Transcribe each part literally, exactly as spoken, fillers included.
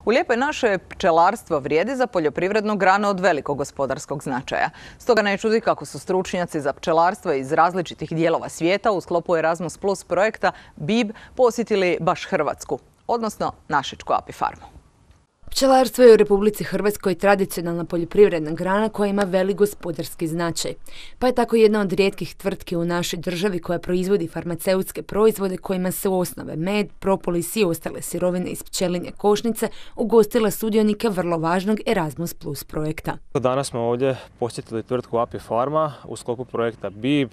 U Lijepoj našoj pčelarstvo vrijedi za poljoprivrednu granu od velikog gospodarskog značaja. Stoga ne čudi kako su stručnjaci za pčelarstvo iz različitih dijelova svijeta u sklopu Erasmus Plus projekta B I B posjetili baš Hrvatsku, odnosno našičku apifarmu. Pčelarstvo je u Republici Hrvatskoj tradicionalna poljoprivredna grana koja ima velik gospodarski značaj. Pa je tako jedna od rijetkih tvrtki u našoj državi koja proizvodi farmaceutske proizvode kojima se u osnove med, propolis i ostale sirovine iz pčelinje košnice ugostila sudionike vrlo važnog Erasmus Plus projekta. Danas smo ovdje posjetili tvrtku Apifarma u sklopu projekta B I B.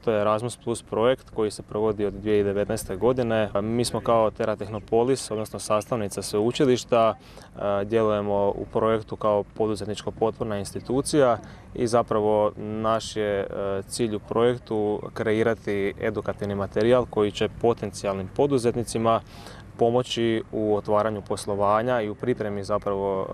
To je Erasmus Plus projekt koji se provodi od dvije tisuće devetnaeste. godine. Mi smo kao Teratehnopolis, odnosno sastavnica sveučilišta, djelujemo u projektu kao poduzetničko potporna institucija i zapravo naš je cilj u projektu kreirati edukativni materijal koji će potencijalnim poduzetnicima pomoći u otvaranju poslovanja i u pripremi zapravo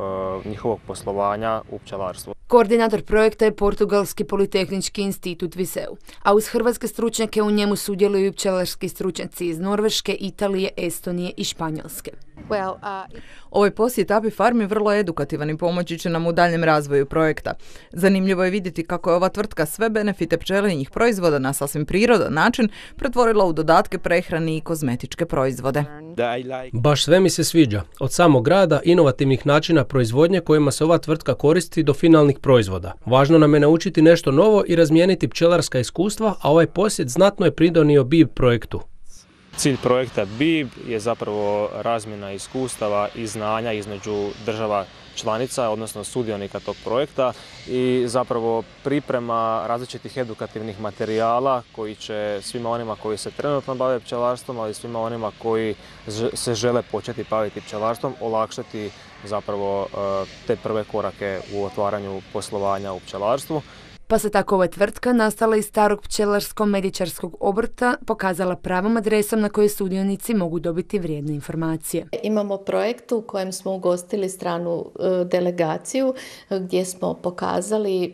njihovog poslovanja u pčelarstvu. Koordinator projekta je Portugalski politehnički institut Viseu, a uz hrvatske stručnjake u njemu sudjeluju i pčelarski stručnjaci iz Norveške, Italije, Estonije i Španjolske. Well, uh... Ovaj posjet apifarmi vrlo je edukativan i pomoći će nam u daljem razvoju projekta. Zanimljivo je vidjeti kako je ova tvrtka sve benefite pčelinjih proizvoda na sasvim prirodan način pretvorila u dodatke prehrani i kozmetičke proizvode. Baš sve mi se sviđa, od samog rada, inovativnih načina proizvodnje kojima se ova tvrtka koristi do finalnih proizvoda. Važno nam je naučiti nešto novo i razmijeniti pčelarska iskustva, a ovaj posjet znatno je pridonio B I B projektu. Cilj projekta B I B je zapravo razmjena iskustava i znanja između država članica, odnosno sudionika tog projekta i zapravo priprema različitih edukativnih materijala koji će svima onima koji se trenutno bave pčelarstvom, ali i svima onima koji se žele početi baviti pčelarstvom, olakšati zapravo te prve korake u otvaranju poslovanja u pčelarstvu. Pa se tako ova tvrtka, nastala iz starog pčelarsko-medičarskog obrta, pokazala pravom adresom na kojoj sudionici mogu dobiti vrijedne informacije. Imamo projekt u kojem smo ugostili stranu e, delegaciju gdje smo pokazali e,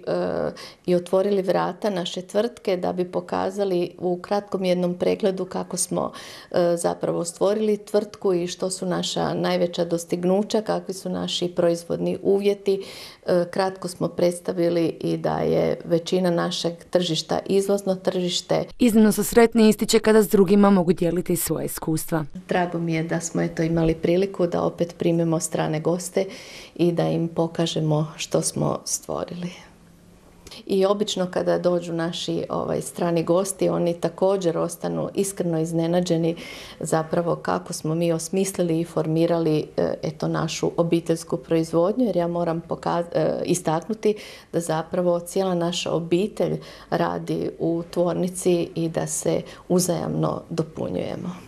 i otvorili vrata naše tvrtke da bi pokazali u kratkom jednom pregledu kako smo e, zapravo stvorili tvrtku i što su naša najveća dostignuća, kakvi su naši proizvodni uvjeti. E, kratko smo predstavili i da je većina našeg tržišta izvozno tržište. Iznimno su sretni, ističe kada s drugima mogu dijeliti svoje iskustva. Drago mi je da smo eto imali priliku da opet primimo strane goste i da im pokažemo što smo stvorili. I obično kada dođu naši ovaj, strani gosti, oni također ostanu iskreno iznenađeni zapravo kako smo mi osmislili i formirali eto, našu obiteljsku proizvodnju, jer ja moram pokaz- istaknuti da zapravo cijela naša obitelj radi u tvornici i da se uzajamno dopunjujemo.